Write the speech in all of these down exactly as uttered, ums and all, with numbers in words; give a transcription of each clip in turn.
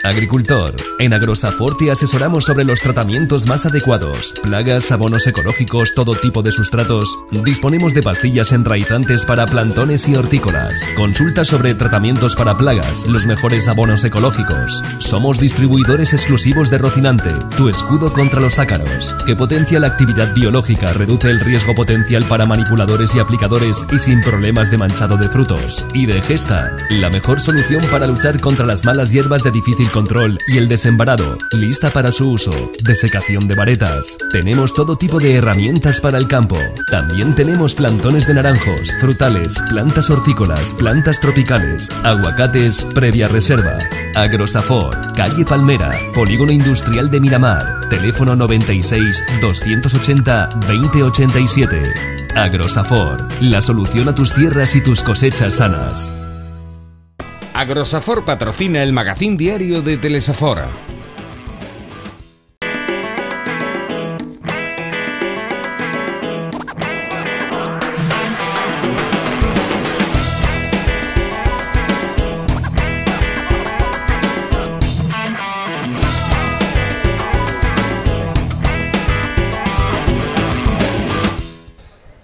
Agricultor. En Agrosafort te asesoramos sobre los tratamientos más adecuados. Plagas, abonos ecológicos, todo tipo de sustratos. Disponemos de pastillas enraizantes para plantones y hortícolas. Consulta sobre tratamientos para plagas, los mejores abonos ecológicos. Somos distribuidores exclusivos de Rocinante, tu escudo contra los ácaros, que potencia la actividad biológica, reduce el riesgo potencial para manipuladores y aplicadores y sin problemas de manchado de frutos. Y de Gesta, la mejor solución para luchar contra las malas hierbas de difícil control y el desembarado, lista para su uso. Desecación de varetas. Tenemos todo tipo de herramientas para el campo. También tenemos plantones de naranjos, frutales, plantas hortícolas, plantas tropicales, aguacates previa reserva. Agrosafort, calle Palmera, Polígono Industrial de Miramar. Teléfono noventa y seis, doscientos ochenta, veinte ochenta y siete. Agrosafort, la solución a tus tierras y tus cosechas sanas. Agrosafort patrocina el magazín diario de Telesafora.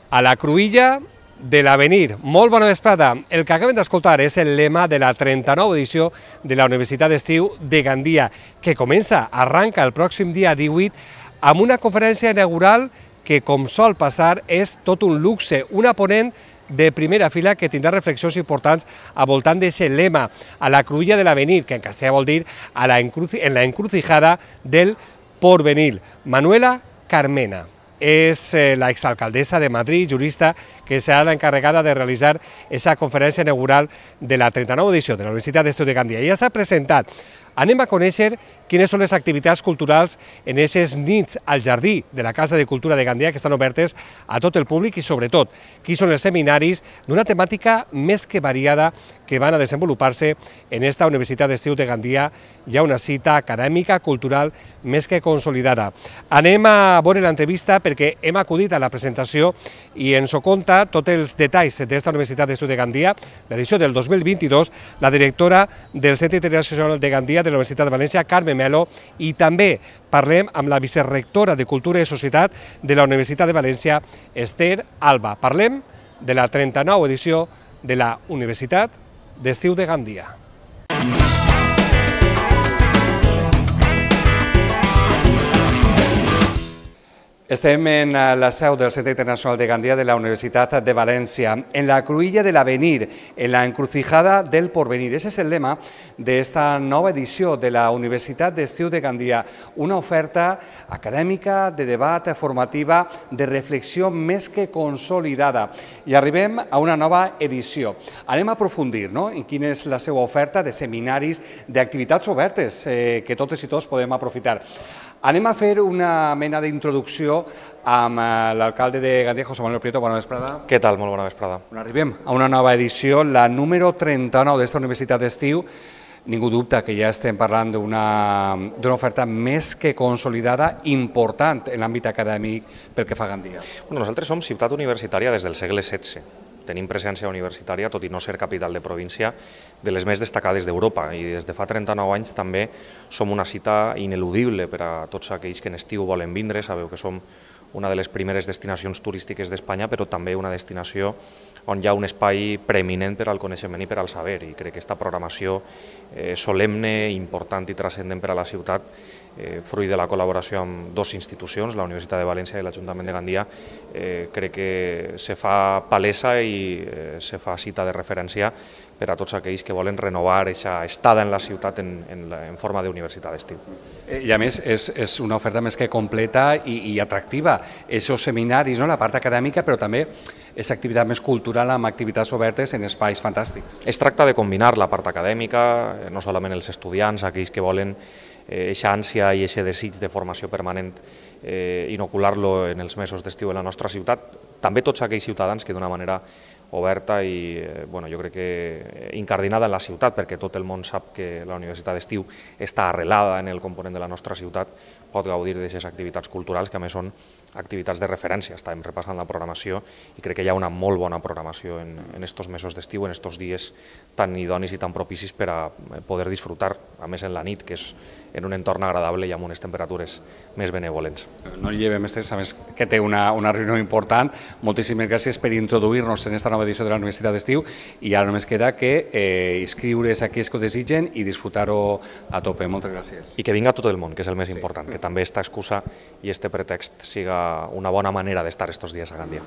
A la cruïlla de l'Avenir. Molt bona vesprada. El que acabem d'escoltar és el lema de la trenta-nova edició de la Universitat d'Estiu de Gandia, que comença, arranca el pròxim dia divuit, amb una conferència inaugural que, com sol passar, és tot un luxe, una ponent de primera fila que tindrà reflexions importants al voltant d'aquest lema, a la cruïlla de l'Avenir, que en castellà vol dir a la encruci en la encrucijada del porvenir. Manuela Carmena és eh, la exalcaldessa de Madrid, jurista, que serà l'encarregada de realitzar aquesta conferència inaugural de la trenta-nova edició de la Universitat d'Estiu de Gandia. Ja s'ha presentat. Anem a conèixer quines són les activitats culturals en aquestes nits al jardí de la Casa de Cultura de Gandia, que estan obertes a tot el públic, i sobretot quins són els seminaris d'una temàtica més que variada que van a desenvolupar-se en esta Universitat d'Estiu de Gandia. Hi ha una cita acadèmica, cultural, més que consolidada. Anem a veure l'entrevista perquè hem acudit a la presentació i ens ho conta tots els detalls d'esta Universitat d'Estiu de Gandia, l'edició del dos mil vint-i-dos, la directora del Centre Internacional de Gandia de la Universitat de València, Carme Melo, i també parlem amb la vicerectora de Cultura i Societat de la Universitat de València, Esther Alba. Parlem de la trenta-nova edició de la Universitat d'Estiu de Gandia. Estem en la seu del Centre Internacional de Gandia de la Universitat de València, en la cruïlla de l'Avenir, en la encrucijada del porvenir. Ese és el lema d'esta nova edició de la Universitat d'Estiu de Gandia, una oferta acadèmica, de debat, formativa, de reflexió més que consolidada. I arribem a una nova edició. Anem a aprofundir en quina és la seva oferta de seminaris, d'activitats obertes que totes i tots podem aprofitar. Anem a fer una mena d'introducció amb l'alcalde de Gandia, José Manuel Prieto. Bona vesprada. Què tal? Molt bona vesprada. Arribem a una nova edició, la número trenta-nou d'esta Universitat d'Estiu. Ningú dubta que ja estem parlant d'una oferta més que consolidada, important en l'àmbit acadèmic pel que fa a Gandia. Nosaltres som ciutat universitària des del segle setze. Tenim presència universitària, tot i no ser capital de província, de les més destacades d'Europa, i des de fa trenta-nou anys també som una cita ineludible per a tots aquells que en estiu volen vindre. Sabeu que som una de les primeres destinacions turístiques d'Espanya, però també una destinació on hi ha un espai preeminent per al coneixement i per al saber, i crec que aquesta programació solemne, important i transcendent per a la ciutat, fruit de la col·laboració amb dues institucions, la Universitat de València i l'Ajuntament de Gandia, crec que se fa palesa i se fa cita de referència per a tots aquells que volen renovar aquesta estada en la ciutat en forma d'universitat d'estiu. I a més és una oferta més que completa i atractiva. Aquests seminaris, la part acadèmica, però també és activitat més cultural amb activitats obertes en espais fantàstics. Es tracta de combinar la part acadèmica, no solament els estudiants, aquells que volen aquesta ànsia i aquest desig de formació permanent, inocular-lo en els mesos d'estiu en la nostra ciutat, també tots aquells ciutadans que d'una manera oberta i jo crec que incardinada en la ciutat, perquè tot el món sap que la Universitat d'Estiu està arrelada en el component de la nostra ciutat, pot gaudir d'aquestes activitats culturals que a més són activitats de referència. Estàvem repassant la programació i crec que hi ha una molt bona programació en, en estos mesos d'estiu, en estos dies tan idonis i tan propicis per a poder disfrutar, a més en la nit, que és en un entorn agradable i amb unes temperatures més benevolents. No llevem estres, a més que té una, una reunió important. Moltíssimes gràcies per introduir-nos en esta nova edició de la Universitat d'Estiu i ara només queda que eh, inscriure's a aquells que ho desitgen i disfrutar-ho a tope. Moltes gràcies. I que vinga tot el món, que és el més important, que també esta excusa i este pretext siga una bona manera d'estar estos dies a Gandia.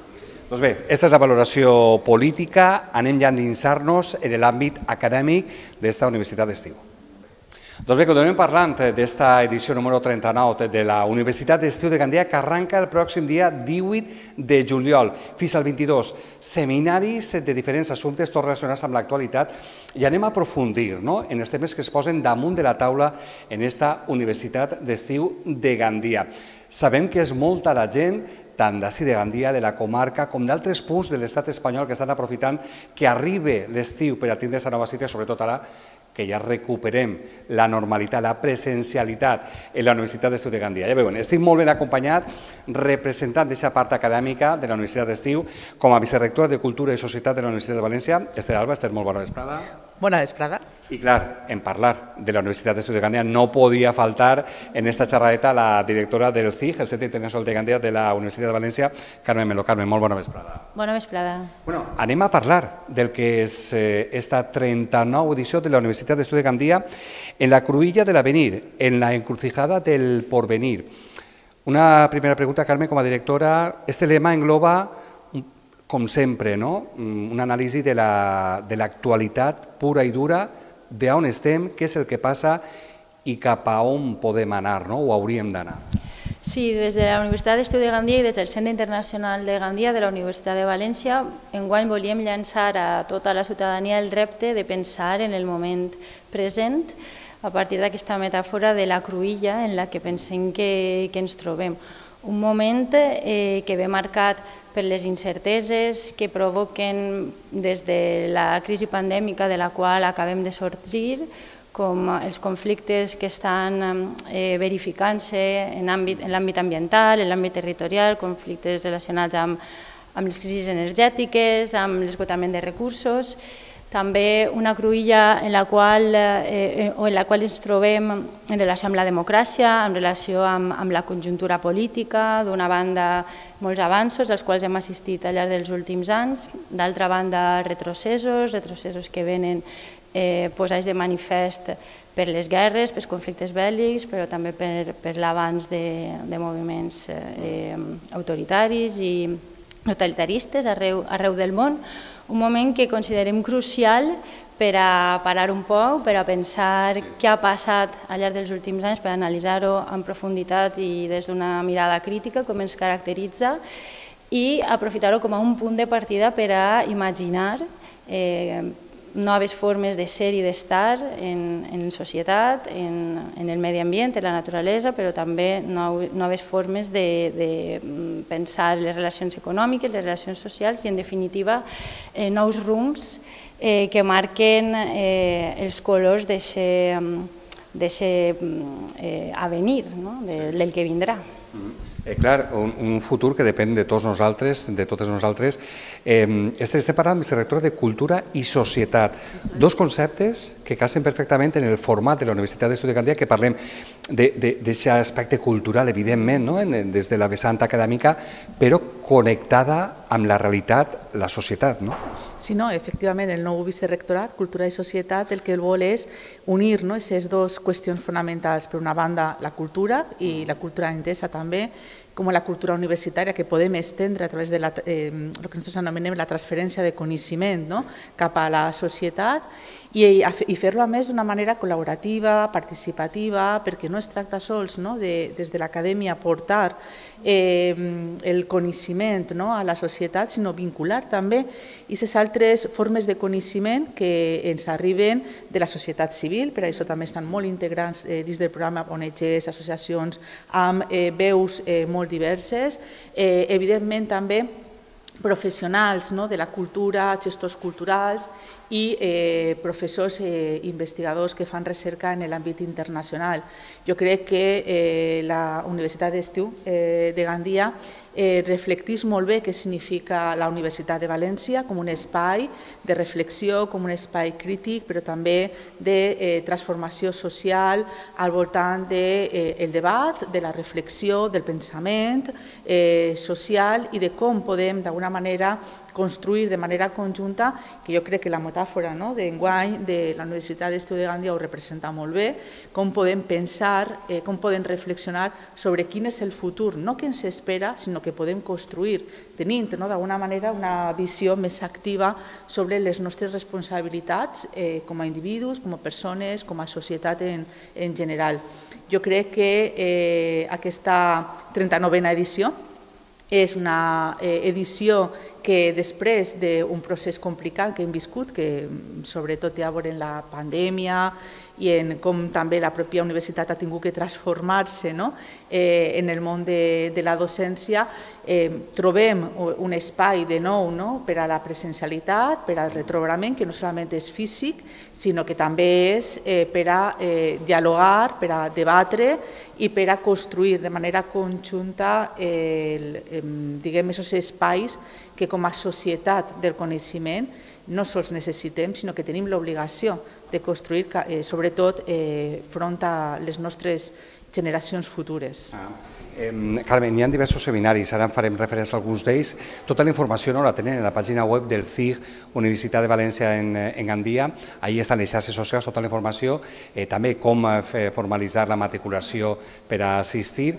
Doncs bé, aquesta és la valoració política. Anem ja a endinsar-nos en l'àmbit acadèmic d'esta Universitat d'Estiu. Doncs bé, continuem parlant d'esta edició número trenta-nou de la Universitat d'Estiu de Gandia, que arranca el pròxim dia divuit de juliol fins al vint-i-dos. Seminaris de diferents assumptes, tots relacionats amb l'actualitat, i anem a aprofundir en els temes que es posen damunt de la taula en esta Universitat d'Estiu de Gandia. Sabem que és molta la gent, tant d'ací de Gandia, de la comarca, com d'altres punts de l'estat espanyol que estan aprofitant que arribi l'estiu per a tindre aquesta nova cita, sobretot ara que ja recuperem la normalitat, la presencialitat en la Universitat d'Estiu de Gandia. Ja veuen, estic molt ben acompanyat, representant d'aquesta part acadèmica de la Universitat d'Estiu, com a vicerectora de Cultura i Societat de la Universitat de València. Esther Alba, Esther, molt bona vesprada. Bona vesprada. I clar, en parlar de la Universitat d'Estiu de Gandia no podia faltar en esta xerradeta la directora del C I G, el Centre Internacional de Gandia de la Universitat de València, Carmen Melo. Carmen, molt bona vesprada. Bona vesprada. Bueno, anem a parlar del que és eh, esta trenta-nova edició de la Universitat d'Estiu de Gandia en la cruïlla de l'avenir, en la encrucijada del porvenir. Una primera pregunta, Carmen, com a directora. Este lema engloba, com sempre, no? Una anàlisi de l'actualitat pura i dura, d'on estem, què és el que passa i cap a on podem anar, no? O hauríem d'anar. Sí, des de la Universitat d'Estiu de Gandia i des del Centre Internacional de Gandia de la Universitat de València, enguany volíem llançar a tota la ciutadania el repte de pensar en el moment present a partir d'aquesta metàfora de la cruïlla en la que pensem que, que ens trobem. Un moment eh, que ve marcat per les incerteses que provoquen des de la crisi pandèmica de la qual acabem de sortir, com els conflictes que estan eh, verificant-se en l'àmbit ambiental, en l'àmbit territorial, conflictes relacionats amb, amb les crisis energètiques, amb l'esgotament de recursos. També una cruïlla en la qual, eh, o en la qual ens trobem en relació amb la democràcia, en relació amb, amb la conjuntura política, d'una banda molts avanços als quals hem assistit al llarg dels últims anys, d'altra banda retrocessos, retrocessos que venen eh, posats de manifest per les guerres, pels conflictes bèl·lics, però també per, per l'avanç de, de moviments eh, autoritaris i totalitaristes arreu, arreu del món. Un moment que considerem crucial per a parar un poc, per a pensar què ha passat al llarg dels últims anys, per analitzar-ho en profunditat i des d'una mirada crítica, com ens caracteritza, i aprofitar-ho com a un punt de partida per a imaginar eh, noves formes de ser i d'estar en, en societat, en, en el medi ambient, en la naturalesa, però també nou, noves formes de, de pensar les relacions econòmiques, les relacions socials i, en definitiva, eh, nous rums eh, que marquen eh, els colors d'aquest eh, avenir, no? de, del que vindrà. Eh, clar, un, un futur que depèn de tots nosaltres, de totes nosaltres. Eh, estem parlant, vicerectora, de cultura i societat. Dos conceptes que casen perfectament en el format de la Universitat d'Estiu de Gandia, que parlem d'aquest aspecte cultural, evidentment, no? Des de la vessant acadèmica, però connectada amb la realitat, la societat, no? Sí, no, efectivament, el nou vicerectorat, Cultura i Societat, el que el vol és unir aquestes dues qüestions fonamentals. Per una banda, la cultura, i la cultura entesa també com la cultura universitària, que podem estendre a través de la, eh, el que nosaltres anomenem la transferència de coneixement, no? Cap a la societat, i, i fer-lo a més d'una manera col·laborativa, participativa, perquè no es tracta sols, no? de, des de l'acadèmia portar eh, el coneixement, no? a la societat, sinó vincular també aquestes altres formes de coneixement que ens arriben de la societat civil. Per això també estan molt integrants eh, dins del programa O N Ges, associacions amb eh, veus eh, molt diverses, eh, evidentment també professionals, no? de la cultura, gestors culturals i eh, professors i eh, investigadors que fan recerca en l'àmbit internacional. Jo crec que eh, la Universitat d'Estiu eh, de Gandia eh, reflecteix molt bé què significa la Universitat de València com un espai de reflexió, com un espai crític, però també de eh, transformació social al voltant del de, eh, debat, de la reflexió, del pensament eh, social i de com podem d'alguna manera construir de manera conjunta, que jo crec que la metàfora no, d'enguany de la Universitat d'Estiu de Gandia ho representa molt bé, com podem pensar, eh, com podem reflexionar sobre quin és el futur, no que ens espera, sinó que podem construir, tenint no, d'alguna manera una visió més activa sobre les nostres responsabilitats eh, com a individus, com a persones, com a societat en, en general. Jo crec que eh, aquesta trenta-novena edició és una eh, edició que després d'un procés complicat que hem viscut, que sobretot ja veurem la pandèmia i en com també la pròpia universitat ha tingut que transformar-se no? eh, en el món de, de la docència, eh, trobem un espai de nou no? per a la presencialitat, per al retrobament, que no solament és físic, sinó que també és eh, per a eh, dialogar, per a debatre i per a construir de manera conjunta eh, eh, diguem, aquests espais que com a societat del coneixement no sols necessitem, sinó que tenim l'obligació de construir, eh, sobretot, eh, front a les nostres generacions futures. Ah. Eh, Carmen, hi ha diversos seminaris, ara en farem referència a alguns d'ells. Tota la informació no la tenen en la pàgina web del C I G Universitat de València en, en Gandia. Ahí estan les xarxes socials, tota la informació, eh, també com fer, formalitzar la matriculació per a assistir.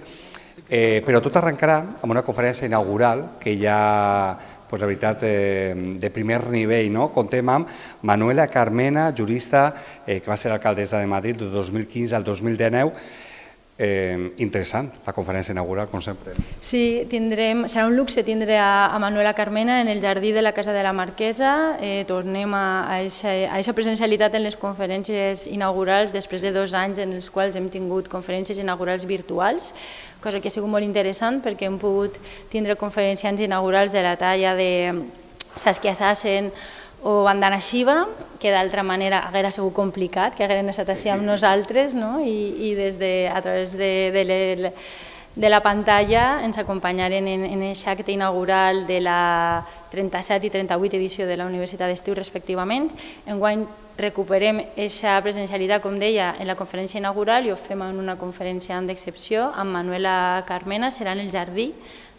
Eh, però tot arrencarà amb una conferència inaugural que ja, pues, la veritat, eh, de primer nivell, no? Contem amb Manuela Carmena, jurista, eh, que va ser alcaldessa de Madrid del dos mil quinze al dos mil dinou. Eh, interessant, la conferència inaugural, com sempre. Sí, tindrem, serà un luxe tindre a, a Manuela Carmena en el jardí de la Casa de la Marquesa. Eh, tornem a aquesta presencialitat en les conferències inaugurals després de dos anys en els quals hem tingut conferències inaugurals virtuals, cosa que ha sigut molt interessant perquè hem pogut tindre conferenciants inaugurals de la talla de Saskia Sassen o Vandana Shiva, que d'altra manera hauria sigut complicat, que hagueren estat així amb nosaltres, no? I, i des de, a través de, de, le, de la pantalla ens acompanyaren en, en aquest acte inaugural de la trenta-set i trenta-vuit edició de la Universitat d'Estiu, respectivament. Enguany recuperem aquesta presencialitat, com deia, en la conferència inaugural i ho fem en una conferència d'excepció amb Manuela Carmena, serà en el jardí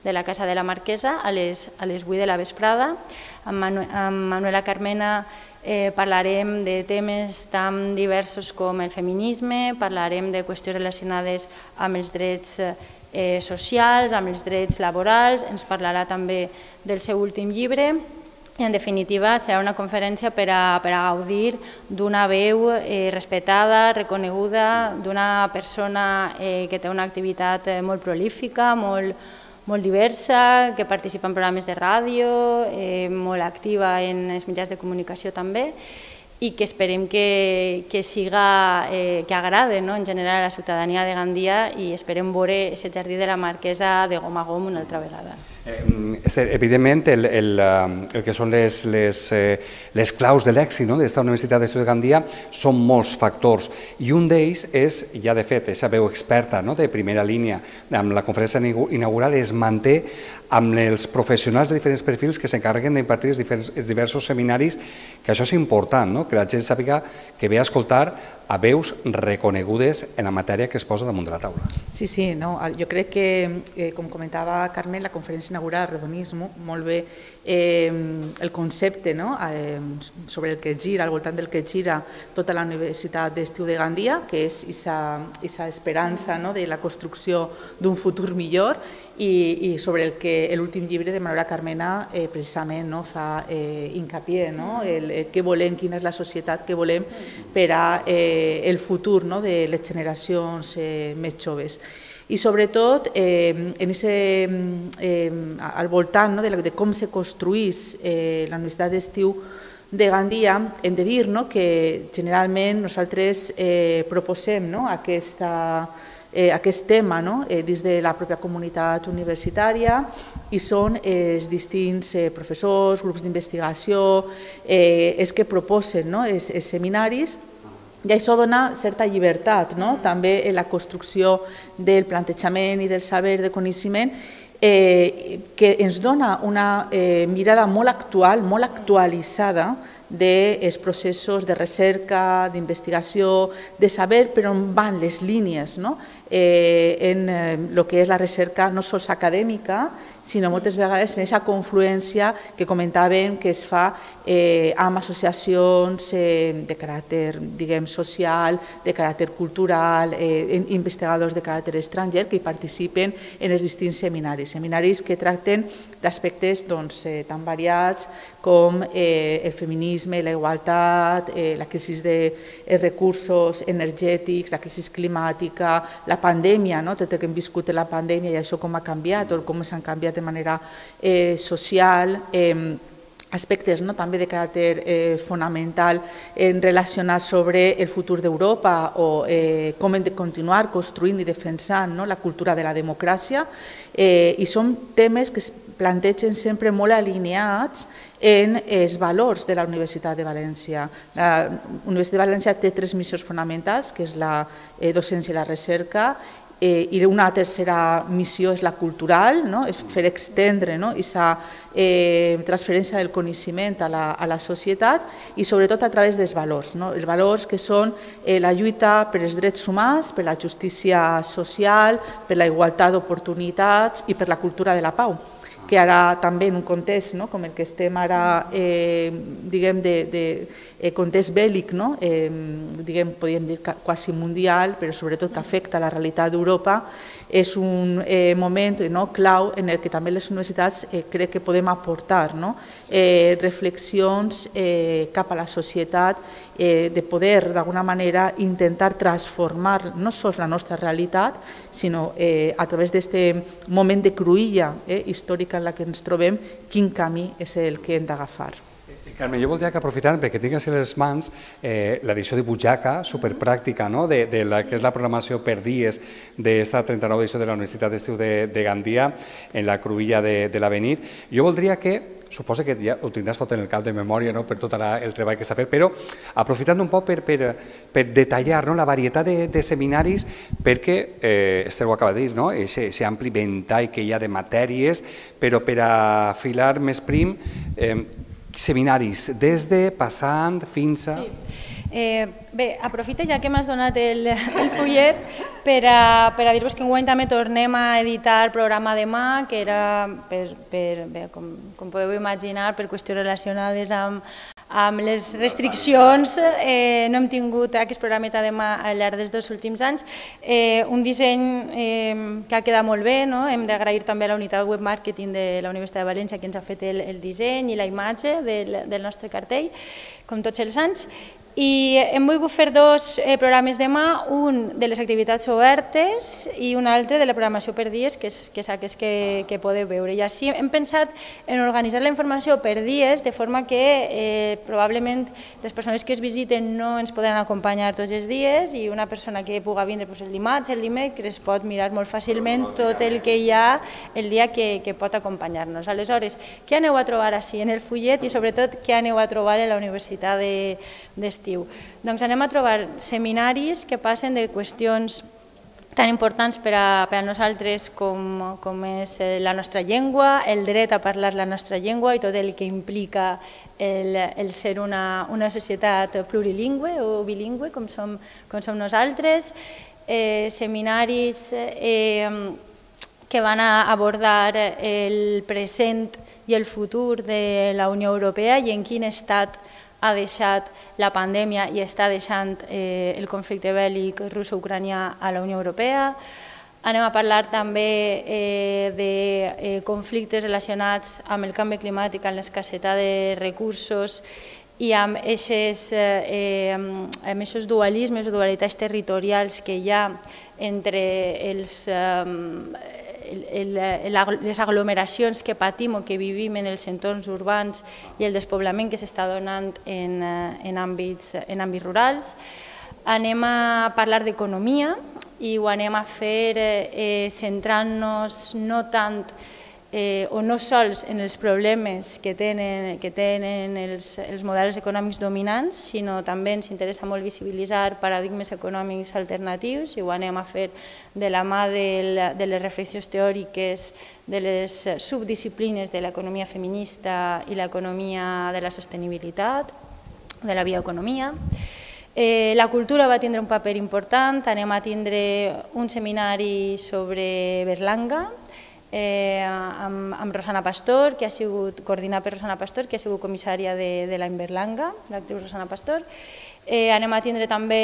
de la Casa de la Marquesa a les, a les vuit de la vesprada. Amb, Manu, amb Manuela Carmena eh, parlarem de temes tan diversos com el feminisme, parlarem de qüestions relacionades amb els drets eh, socials, amb els drets laborals, ens parlarà també del seu últim llibre i, en definitiva, serà una conferència per a, per a gaudir d'una veu eh, respetada, reconeguda, d'una persona eh, que té una activitat eh, molt prolífica, molt molt diversa, que participa en programes de ràdio, eh, molt activa en els mitjans de comunicació també, i que esperem que, que siga, eh, que agrade no? en general a la ciutadania de Gandia i esperem veure aquest jardí de la Marquesa de gom a gom una altra vegada. Eh, evidentment, el, el, el que són les, les, eh, les claus de l'èxit no? d'esta Universitat d'Estiu de Gandia són molts factors i un d'ells és, ja de fet, aquesta veu experta no? de primera línia amb la conferència inaugural es manté amb els professionals de diferents perfils que s'encarreguen d'impartir els diversos seminaris, que això és important, no? que la gent sàpiga que ve a escoltar a veus reconegudes en la matèria que es posa damunt de la taula. Sí, sí, no, jo crec que, eh, com comentava Carmen, la conferència inaugural Redonismo, molt bé eh, el concepte no? eh, sobre el que gira, al voltant del que gira tota la Universitat d'Estiu de Gandia, que és aquesta esperança no? de la construcció d'un futur millor, i, i sobre el que l'últim llibre de Manuela Carmena eh, precisament no? fa eh, hincapié, no? el, el què volem, quina és la societat que volem per a eh, el futur no? de les generacions eh, més joves. I sobretot eh, en ese, eh, al voltant no? de, la, de com se construís eh, la Universitat d'Estiu de Gandia, hem de dir no? que generalment nosaltres eh, proposem no? aquesta eh, aquest tema no? eh, dins de la pròpia comunitat universitària i són eh, els distints eh, professors, grups d'investigació, eh, els que proposen no? els, els seminaris. I això dona certa llibertat, no? també en la construcció del plantejament i del saber de coneixement, eh, que ens dona una eh, mirada molt actual, molt actualitzada dels processos de recerca, d'investigació, de saber per on van les línies no? eh, en el que és la recerca no sols acadèmica, sinó moltes vegades en aquesta confluència que comentàvem que es fa eh, amb associacions eh, de caràcter diguem, social, de caràcter cultural, eh, investigadors de caràcter estranger que hi participen en els distints seminaris. Seminaris que tracten d'aspectes doncs, eh, tan variats com eh, el feminisme, la igualtat, eh, la crisi de eh, recursos energètics, la crisi climàtica, la pandèmia, no? tot el que hem viscut en la pandèmia i això com ha canviat o com s'han canviat de manera eh, social, eh, aspectes no? també de caràcter eh, fonamental en relacionar sobre el futur d'Europa o eh, com hem de continuar construint i defensant no? la cultura de la democràcia eh, i són temes que es plantegen sempre molt alineats en els valors de la Universitat de València. La Universitat de València té tres missions fonamentals, que és la eh, docència i la recerca, Eh, i una tercera missió és la cultural, no? És fer extendre no? aquesta eh, transferència del coneixement a la, a la societat i sobretot a través dels valors. No? Els valors que són eh, la lluita per els drets humans, per la justícia social, per la igualtat d'oportunitats i per la cultura de la pau, que ara també en un context no? com el que estem ara, eh, diguem, de, de eh, context bèl·lic, no? eh, diguem, podríem dir quasi mundial, però sobretot que afecta la realitat d'Europa, és un eh, moment no? clau en el que també les universitats eh, crec que podem aportar no? eh, reflexions eh, cap a la societat, eh, de poder d'alguna manera intentar transformar no sols la nostra realitat, sinó eh, a través d'aquest moment de cruïlla eh, històrica en la que ens trobem, quin camí és el que hem d'agafar. Carme, jo voldria que aprofitant perquè tingues a les mans eh, l'edició de Butxaca, superpràctica, no? de, de la que és la programació per dies d'esta trenta-nova edició de la Universitat d'Estiu de, de Gandia en la cruïlla de, de l'Avenir. Jo voldria que, suposo que ja ho tindràs tot en el cap de memòria no? per tot la, el treball que s'ha fet, però aprofitant un poc per, per, per detallar no? la varietat de, de seminaris, perquè, eh, Esther ho acaba de dir, no? aquest ampli ventall que hi ha de matèries, però per a filar més prim, eh, seminaris, des de, passant, fins a... Sí. Eh, bé, aprofito ja que m'has donat el, el fullet per a, per a dir-vos que enguany també tornem a editar el programa de mà, que era, per, per, bé, com, com podeu imaginar, per qüestions relacionades amb, amb les restriccions, eh, no hem tingut aquest programeta de mà al llarg dels dos últims anys. Eh, un disseny eh, que ha quedat molt bé, no? Hem d'agrair també a la unitat web marketing de la Universitat de València que ens ha fet el, el disseny i la imatge del, del nostre cartell, com tots els anys. I hem volgut fer dos eh, programes de mà, un de les activitats obertes i un altre de la programació per dies, que és, que és aquest que, que podeu veure. I així hem pensat en organitzar la informació per dies, de forma que eh, probablement les persones que es visiten no ens podran acompanyar tots els dies i una persona que puga vindre doncs, el dimarts, el dimecres, pot mirar molt fàcilment tot el que hi ha el dia que, que pot acompanyar-nos. Aleshores, què aneu a trobar així en el fullet i sobretot què aneu a trobar a la Universitat d'Estiu? Doncs anem a trobar seminaris que passen de qüestions tan importants per a, per a nosaltres com, com és la nostra llengua, el dret a parlar la nostra llengua i tot el que implica el, el ser una, una societat plurilingüe o bilingüe com som, com som nosaltres, eh, seminaris eh, que van a abordar el present i el futur de la Unió Europea i en quin estat ha deixat la pandèmia i està deixant eh, el conflicte bèl·lic russo-ucranià a la Unió Europea. Anem a parlar també eh, de eh, conflictes relacionats amb el canvi climàtic, amb l'escassetat de recursos i amb aquests dualismes o dualitats territorials que hi ha entre els... Eh, les aglomeracions que patim o que vivim en els entorns urbans i el despoblament que s'està donant en, en, àmbits, en àmbits rurals. Anem a parlar d'economia i ho anem a fer eh, centrant-nos no tant eh, o no sols en els problemes que tenen, que tenen els, els models econòmics dominants, sinó també ens interessa molt visibilitzar paradigmes econòmics alternatius i ho anem a fer de la mà de, de les reflexions teòriques de les subdisciplines de l'economia feminista i l'economia de la sostenibilitat, de la bioeconomia. Eh, la cultura va tindre un paper important, anem a tindre un seminari sobre Berlanga, Eh, amb, amb Rosana Pastor, que ha sigut coordinat per Rosana Pastor, que ha sigut comissària de, de l'any Berlanga, l'actriu Rosana Pastor. Eh, anem a tindre també,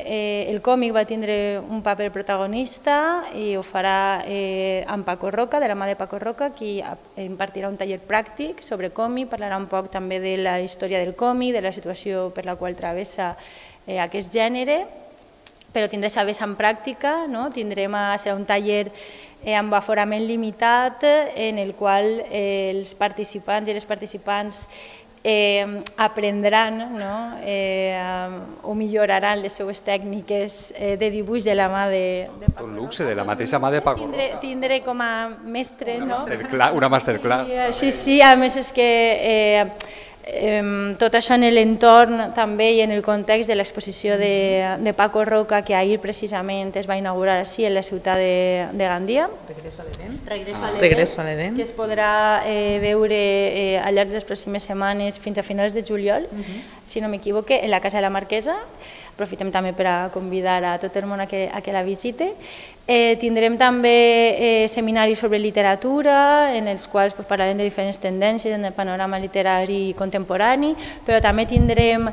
eh, el còmic va tindre un paper protagonista i ho farà eh, amb Paco Roca, de la mà de Paco Roca, qui impartirà un taller pràctic sobre còmic, parlarà un poc també de la història del còmic, de la situació per la qual travessa eh, aquest gènere, però tindrà aquesta vessant pràctica, no? Tindrem a, serà un taller eh, amb aforament limitat en el qual eh, els participants i les participants eh, aprendran, no? eh, o milloraran les seues tècniques eh, de dibuix de la mà de, de Paco Un luxe, de la mateixa mà de Paco Roca. Tindré, tindré com a mestre, una no? Masterclass, una masterclass. Sí, sí, a més és que eh, Eh, tot això en l'entorn també i en el context de l'exposició de, de Paco Roca, que ahir precisament es va inaugurar així en la ciutat de, de Gandia. Regreso a l'Eden. Regreso, ah. Regreso a l'Eden. Que es podrà eh, veure eh, al llarg de les pròximes setmanes fins a finals de juliol, uh -huh. si no m'equivoque, en la Casa de la Marquesa. Aprofitem també per a convidar a tot el món a que, a que la visite. Eh, tindrem també eh, seminaris sobre literatura, en els quals pues, parlarem de diferents tendències en el panorama literari contemporani, però també tindrem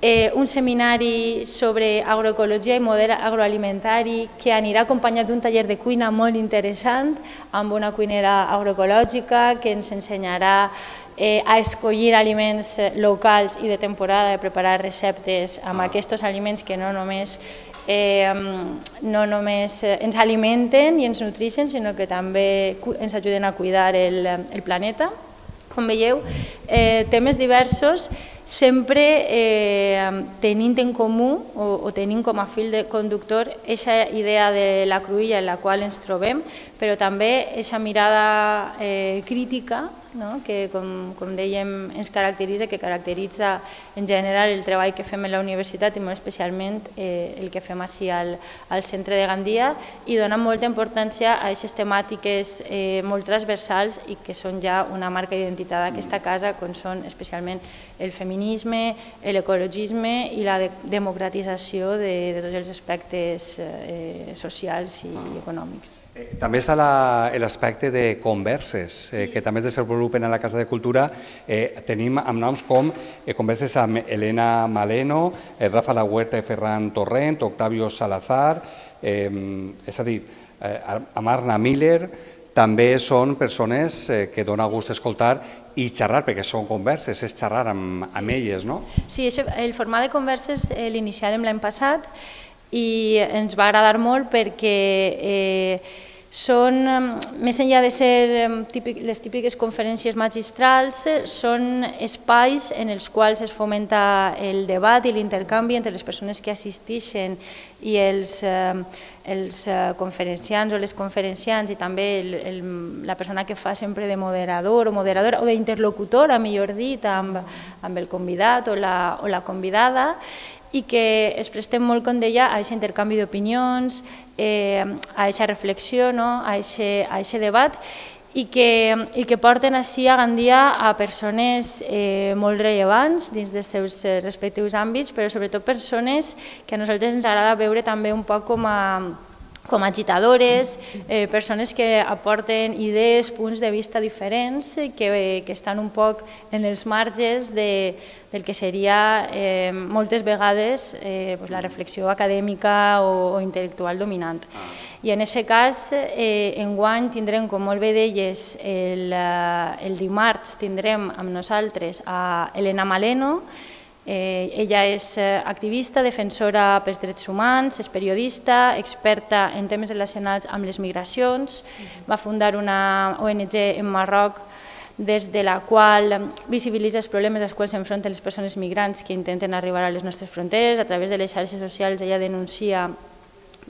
eh, un seminari sobre agroecologia i model agroalimentari que anirà acompanyat d'un taller de cuina molt interessant amb una cuinera agroecològica que ens ensenyarà Eh, a escollir aliments locals i de temporada, de preparar receptes amb ah. aquests aliments que no només, eh, no només ens alimenten i ens nutreixen, sinó que també ens ajuden a cuidar el, el planeta. Com veieu, eh, temes diversos, sempre eh, tenint en comú o, o tenint com a fil de conductor aquesta idea de la cruïlla en la qual ens trobem, però també aquesta mirada eh, crítica, no? que, com, com dèiem, ens caracteritza, que caracteritza en general el treball que fem a la universitat i molt especialment eh, el que fem així al, al centre de Gandia, i dona molta importància a aquestes temàtiques eh, molt transversals i que són ja una marca d'identitat d'aquesta casa, com són especialment el feminisme, l'ecologisme i la de democratització de, de tots els aspectes eh, socials i econòmics. També està l'aspecte de converses, eh, que també es desenvolupen a la Casa de Cultura. Eh, tenim amb noms com eh, converses amb Elena Maleno, eh, Rafa La Huerta i Ferran Torrent, Octavio Salazar, eh, és a dir, eh, amb Arna Miller. També són persones eh, que dona gust escoltar i xerrar, perquè són converses, és xerrar amb, amb elles, no? Sí, el format de converses eh, l'iniciàrem l'any passat i ens va agradar molt perquè eh, són, més enllà de ser típic, les típiques conferències magistrals, són espais en els quals es fomenta el debat i l'intercanvi entre les persones que assisteixen i els, eh, els conferenciants o les conferenciants, i també el, el, la persona que fa sempre de moderador o moderadora o d'interlocutora, millor dit, amb, amb el convidat o la, o la convidada, i que es prestem molt, com deia, a aquest intercanvi d'opinions, eh, a aquesta reflexió, no? a aquest debat, i que, i que porten així a Gandia a persones eh, molt rellevants dins dels seus respectius àmbits, però sobretot persones que a nosaltres ens agrada veure també un poc com a com agitadores, eh, persones que aporten idees, punts de vista diferents, que, que estan un poc en els marges de, del que seria eh, moltes vegades eh, pues la reflexió acadèmica o, o intel·lectual dominant. I en aquest cas, eh, enguany tindrem, com molt bé deies, el, el dimarts tindrem amb nosaltres a Elena Maleno. Eh, ella és activista, defensora pels drets humans, és periodista, experta en temes relacionats amb les migracions, va fundar una O N G en Marroc des de la qual visibilitza els problemes als quals s'enfronten les persones migrants que intenten arribar a les nostres fronteres. A través de les xarxes socials ella denuncia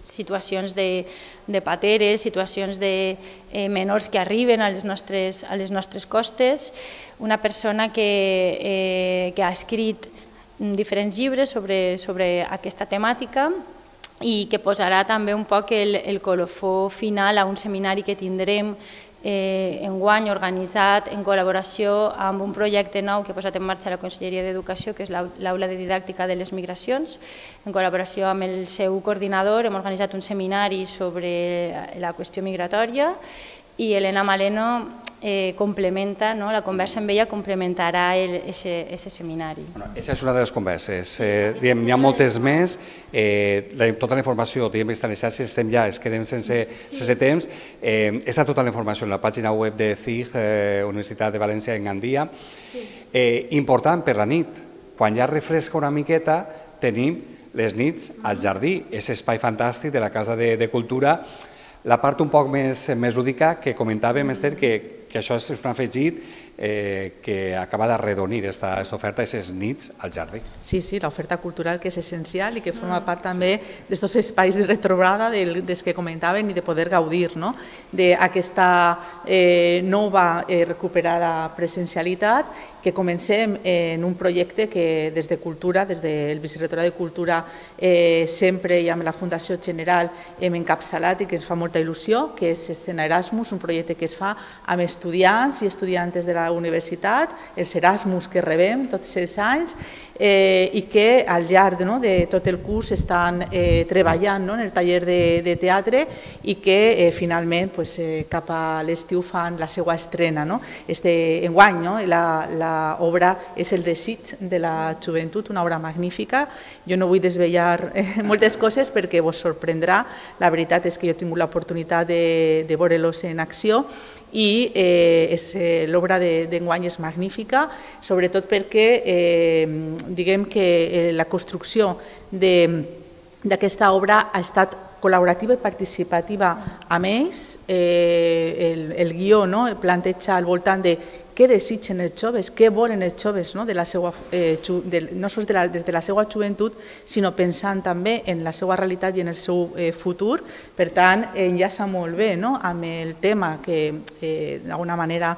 situacions de, de pateres, situacions de eh, menors que arriben a les nostres, a les nostres costes, una persona que, eh, que ha escrit diferents llibres sobre, sobre aquesta temàtica i que posarà també un poc el, el colofó final a un seminari que tindrem eh, enguany organitzat en col·laboració amb un projecte nou que ha posat en marxa la Conselleria d'Educació, que és l'Aula de Didàctica de les Migracions. En col·laboració amb el seu coordinador hem organitzat un seminari sobre la qüestió migratòria i Elena Maleno eh, complementa, no? La conversa amb ella complementarà aquest seminari. Bueno, aquesta és una de les converses. Eh, diem, n'hi ha moltes més, eh, la, tota la informació diem, està a les xarxes, estem ja, es quedem sense, sense temps. Eh, està tota la informació en la pàgina web de C I G, eh, Universitat de València en Gandia. Eh, important per la nit, quan ja refresca una miqueta, tenim les nits al jardí, és espai fantàstic de la Casa de, de Cultura. La part un poc més, més lúdica que comentàvem, Esther, que, que això és un afegit eh, que acaba d'arredonir aquesta oferta, aquestes nits al jardí. Sí, sí, l'oferta cultural que és essencial i que forma part també d'aquests espais de retrobada dels que comentaven i de poder gaudir, no? D'aquesta eh, nova eh, recuperada presencialitat, que comencem en un projecte que des de Cultura, des del Vicerrectorat de Cultura, eh, sempre i amb la Fundació General hem encapçalat i que ens fa molta il·lusió, que és Escena Erasmus, un projecte que es fa amb estudiants i estudiantes de la universitat, els Erasmus que rebem tots els anys, eh, i que al llarg no, de tot el curs estan eh, treballant no, en el taller de, de teatre i que eh, finalment pues, eh, cap a l'estiu fan la seva estrena. No? Este enguany, no? la, la obra és El desig de la joventut, una obra magnífica. Jo no vull desvetllar eh, moltes coses perquè vos sorprendrà. La veritat és que jo he tingut l'oportunitat de, de veure-los en acció i eh, eh, l'obra d'enguany és magnífica, sobretot perquè eh, diguem que eh, la construcció d'aquesta obra ha estat col·laborativa i participativa amb ells. Eh, el, el guió no, planteja al voltant de què desitgen els joves, què volen els joves, no, de la seva, eh, de, no sols de la, des de la seva joventut, sinó pensant també en la seva realitat i en el seu eh, futur. Per tant, enllaça molt bé no, amb el tema que eh, d'alguna manera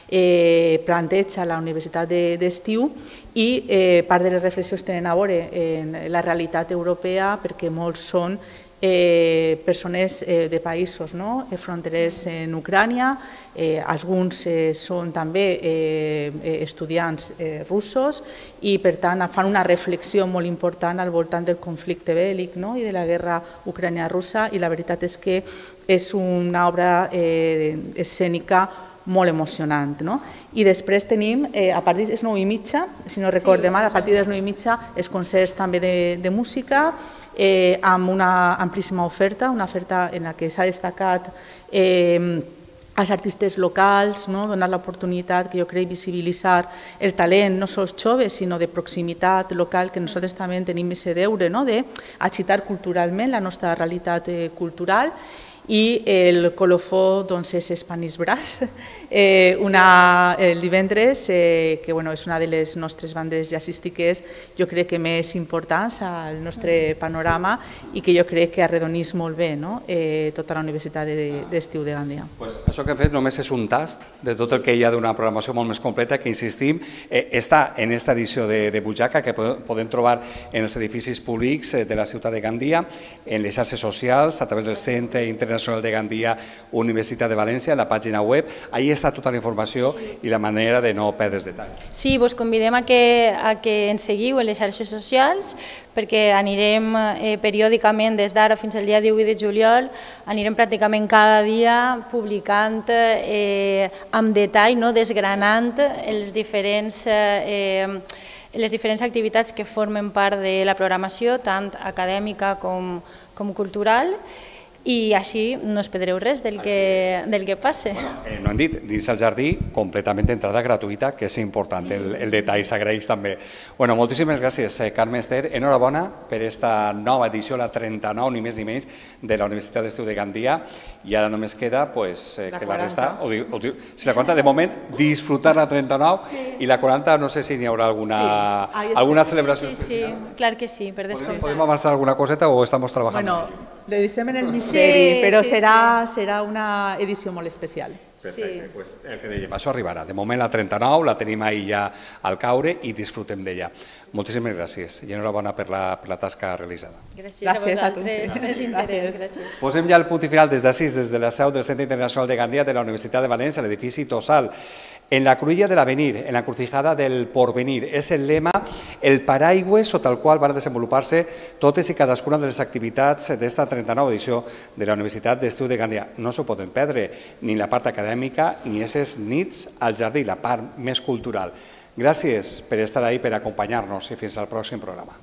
eh, planteja la Universitat d'Estiu i eh, part de les reflexions tenen a veure en la realitat europea perquè molts són Eh, persones eh, de països no? fronterers en Ucrània, eh, alguns eh, són també eh, estudiants eh, russos i per tant fan una reflexió molt important al voltant del conflicte bèl·lic no? i de la guerra ucrània-russa i la veritat és que és una obra eh, escènica molt emocionant. No? I després tenim, eh, a partir de les nou i mitja, si no recorde sí, mal, a partir de les nou i mitja, els concerts també de, de música, eh, amb una amplíssima oferta, una oferta en la que s'ha destacat eh, als artistes locals, no? Donar l'oportunitat, que jo crec, visibilitzar el talent, no sols joves, sinó de proximitat local, que nosaltres també tenim aquest deure no? d'agitar culturalment la nostra realitat eh, cultural. I el colofó doncs, és Spanish Brass, eh, una, el divendres, eh, que bueno, és una de les nostres bandes jazzístiques, jo crec que més importants al nostre panorama i que jo crec que arredonís molt bé no? eh, tota la Universitat d'Estiu de Gandia. Pues això que hem fet només és un tast de tot el que hi ha d'una programació molt més completa que, insistim, eh, està en aquesta edició de, de Butxaca, que podem trobar en els edificis públics de la ciutat de Gandia, en les xarxes socials, a través del Centre Internacional de Gandia, Universitat de València, en la pàgina web. Ahí està tota la informació i la manera de no perdre's detall. Sí, vos convidem a que, a que ens seguiu en les xarxes socials perquè anirem eh, periòdicament des d'ara fins al dia divuit de juliol, anirem pràcticament cada dia publicant eh, amb detall, no, desgranant els diferents eh, les diferents activitats que formen part de la programació, tant acadèmica com, com cultural, i així no us perdreu res del que, del que passe. Bueno, eh, no hem dit, dins el jardí, completament entrada gratuïta, que és important, sí. el, el detall s'agraeix també. Bueno, moltíssimes gràcies, eh, Carme Ester, enhorabona per aquesta nova edició, la trenta-nou, ni més ni menys, de la Universitat d'Estiu de Gandia, i ara només queda pues, eh, la que quaranta. La resta, o, o, si la quaranta, de moment, disfrutar la trenta-nou, sí. I la quaranta, no sé si n'hi haurà alguna, sí. alguna celebració sí, especial. Sí, clar que sí, per descomptat. ¿Podem avançar alguna coseta o estamos trabajando? Bueno, Le dicem en el misteri, Sí, però sí, serà, serà una edició molt especial. Perfecte, sí. Pues el que dèiem, això arribarà. De moment la trenta-nou la tenim ahí ja al caure i disfrutem d'ella. Moltíssimes gràcies i enhorabona per la, per la tasca realitzada. Gràcies, gràcies a vosaltres. Gràcies. Gràcies. Gràcies. Posem ja el punt i final des d'ací, des de la seu del Centre Internacional de Gandia de la Universitat de València, l'edifici Tossal. En la cruïlla de l'avenir, en la encrucijada del porvenir, és el lema, el paraigüe sota el qual van desenvolupar-se totes i cadascuna de les activitats d'esta trenta-nova edició de la Universitat d'Estiu de Gandia. No s'ho poden perdre, ni la part acadèmica, ni aquestes nits al jardí, la part més cultural. Gràcies per estar ahí, per acompanyar-nos i fins al pròxim programa.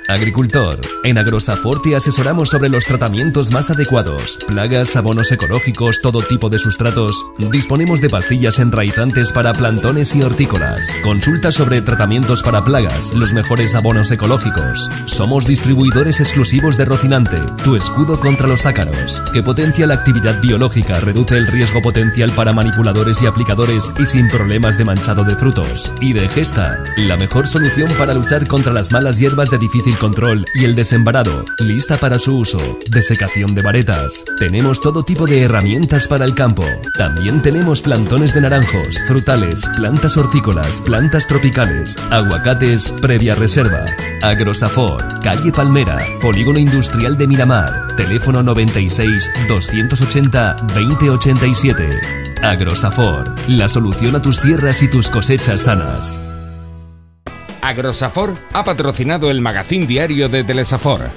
Agricultor. En Agrosafort te asesoramos sobre los tratamientos más adecuados, plagas, abonos ecológicos, todo tipo de sustratos. Disponemos de pastillas enraizantes para plantones y hortícolas. Consulta sobre tratamientos para plagas, los mejores abonos ecológicos. Somos distribuidores exclusivos de Rocinante, tu escudo contra los ácaros, que potencia la actividad biológica, reduce el riesgo potencial para manipuladores y aplicadores y sin problemas de manchado de frutos. Y de Gesta, la mejor solución para luchar contra las malas hierbas de difícil control y el desembarado, lista para su uso. Desecación de varetas. Tenemos todo tipo de herramientas para el campo. También tenemos plantones de naranjos, frutales, plantas hortícolas, plantas tropicales, aguacates previa reserva. Agrosafort, calle Palmera, Polígono Industrial de Miramar. Teléfono noventa y seis, doscientos ochenta, veinte ochenta y siete. Agrosafort, la solución a tus tierras y tus cosechas sanas. Agrosafort ha patrocinado el magazín diario de Telesafor.